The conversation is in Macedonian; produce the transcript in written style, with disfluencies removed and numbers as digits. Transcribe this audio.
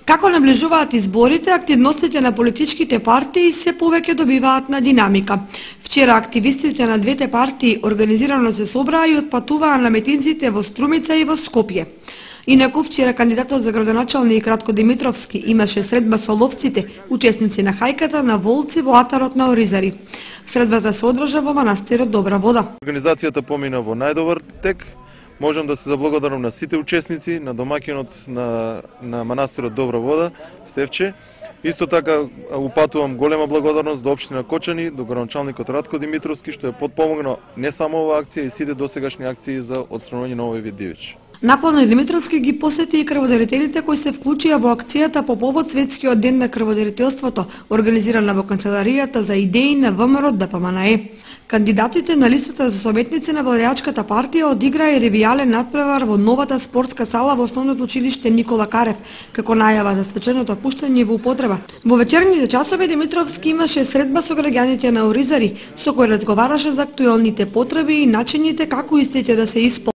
Како наближуваат изборите, активностите на политичките партии се повеќе добиваат на динамика. Вчера активистите на двете партии организирано се собраа и отпатуваа на митинзите во Струмица и во Скопје. Инаку вчера кандидатот за градоначалник Радко Димитровски имаше средба со ловците, учесници на хајката на волци во атарот на Оризари. Средбата се одржа во манастирот Добра вода. Организацијата помина во најдобар тек. Можам да се заблагодарам на сите учесници, на домаќинот на манастирот Добра вода, Стефче. Исто така упатувам голема благодарност до општина Кочани, до градоначалникот Радко Димитровски, што е подпомогнал не само оваа акција и сите досегашни акции за отстранување на овој вид дивеч. Наполно Димитровски ги посети и крводарителите кои се вклучија во акцијата по повод Светскиот ден на крводарителството, организирана во канцеларијата за идеи на ВМРО ДПМНЕ. Кандидатите на листата за советници на владеачката партија одиграа и ревијален натпревар во новата спортска сала во основното училиште Никола Карев, како најава за свеченото пуштање во употреба. Во вечерните часови Димитровски имаше средба со граѓаните на Оризари, со кои разговараше за актуелните потреби и начините како истите да се исполнат.